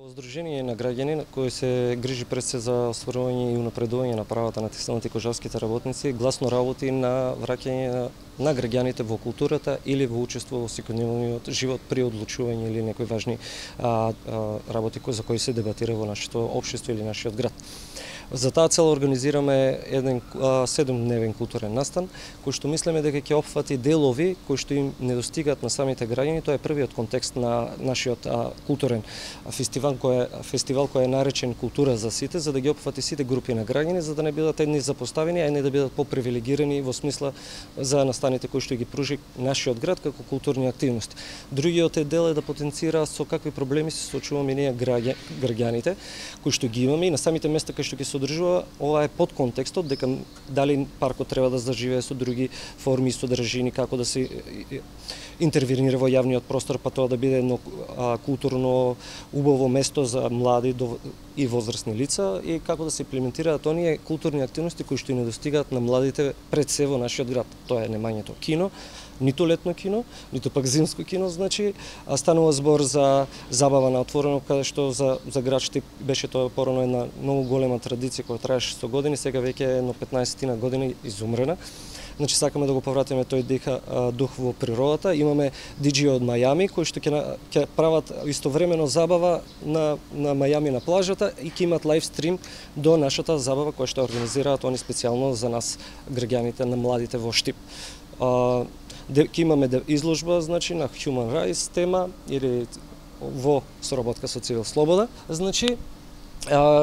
Здружение на граѓани кои се грижи пред се за остварување и унапредување на правата на текстилните и кожарските работници, гласно работи на враќање на граѓаните во културата или во учество во секојдневниот живот при одлучување или некои важни работи за кои се дебатира во нашето општество или нашиот град. За таа цел организираме еден 7-дневен културен настан, кој што мислиме дека ќе опфати делови кои што им недостигаат на самите граѓани. Тоа е првиот контекст на нашиот културен фестивал кој е наречен Култура за сите, за да ги опфати сите групи на граѓани, за да не бидат едни запоставени, а не да бидат попривилегирани во смисла за настаните кои што ги пружи нашиот град како културни активности. Другиот дел е да потенцира со какви проблеми се соочуваме ние граѓаните, кои што ги имаме и на самите места кај што ќе се одржува. Ова е под контекстот дека дали паркот треба да заживее со други форми и содржини, како да се интервенира во јавниот простор, па тоа да биде едно културно убаво место за млади и возрастни лица и како да се имплементираат оние културни активности кои што и недостигаат на младите пред се во нашиот град. Тоа е немањето кино, ниту летно кино, ниту пак зимско кино, значи станува збор за забава на отворено, каде што за град Штип беше тоа порано една многу голема традиција која траеше 100 години, сега веќе е едно 15 години изумрена. Значи сакаме да го повратиме тој дух во природата. Имаме диџеи од Мајами кои што ќе прават истовремено забава на Мајами на плажата и ќе имат лайв стрим до нашата забава која што организираат они специјално за нас граѓаните на младите во Штип. Ќе имаме изложба, значи, на Human Rights тема или во соработка со Цивил Слобода. Значи,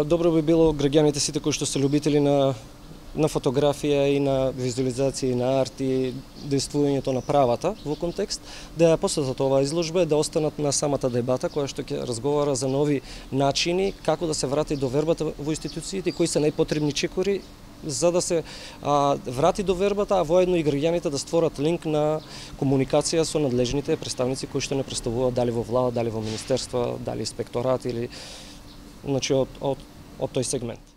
добро би било граѓаните сите кои што се љубители на фотографија и на визуализација и на арт и действувањето на правата во контекст, да ја посетат оваа изложба и да останат на самата дебата која што ќе разговара за нови начини како да се врати довербата во институциите, кои се најпотребни чекори за да се врати довербата, а воедно и граѓаните да створат линк на комуникација со надлежните представници кои што не представуваат дали во влада, дали во министерства, дали инспекторат или значи од тој сегмент.